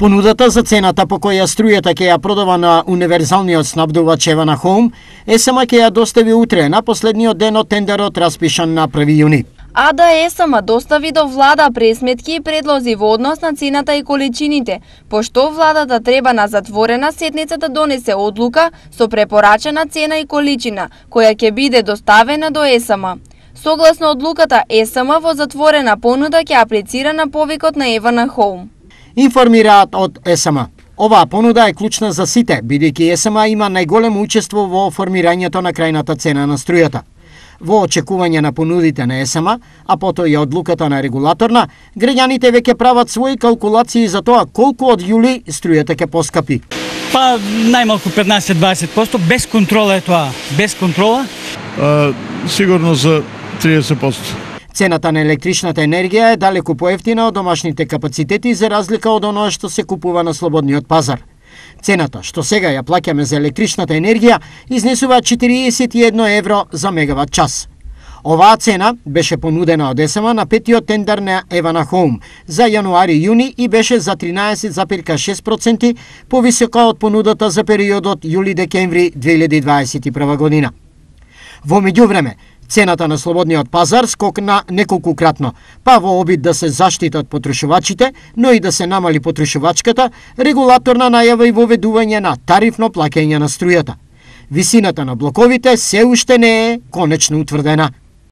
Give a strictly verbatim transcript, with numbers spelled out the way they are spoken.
Понудата за цената по која струјата ќе ја продава на универзалниот снабдувач Евана Хоум, ЕСМ ќе ја достави утре на последниот ден од тендерот распишан на први јуни. А да ЕСМ достави до влада пресметки и предлози во однос на цената и количините, пошто владата треба на затворена седница да донесе одлука со препорачена цена и количина, која ќе биде доставена до ЕСМ. Согласно одлуката, ЕСМ во затворена понуда ќе аплицира на повикот на Евана Хоум. Информираат од ЕСМ. Оваа понуда е клучна за сите, бидејќи ЕСМ има најголемо учество во формирањето на крајната цена на струјата. Во очекување на понудите на ЕСМ, а потоа и одлуката на регулаторна, граѓаните веќе прават своји калкулации за тоа колку од јули струјата ќе поскапи. Па најмалку петнаесет до дваесет проценти, без контрола е тоа. Без контрола? А, сигурно за триесет проценти. Цената на електричната енергија е далеку поевтина од домашните капацитети за разлика од оноа што се купува на слободниот пазар. Цената што сега ја плаќаме за електричната енергија изнесува четириесет и едно евро за мегават час. Оваа цена беше понудена од ЕСМ на петиот тендер на Евана Хоум за јануари-јуни и беше за тринаесет зарез шест проценти повисока од понудата за периодот јули-декември две илјади дваесет и прва година. Во меѓувреме, цената на слободниот пазар скокна неколкукратно, па во обид да се заштитат потрошувачите, но и да се намали потрошувачката, регулаторна најава и воведување на тарифно плаќање на струјата. Висината на блоковите се уште не е конечно утврдена.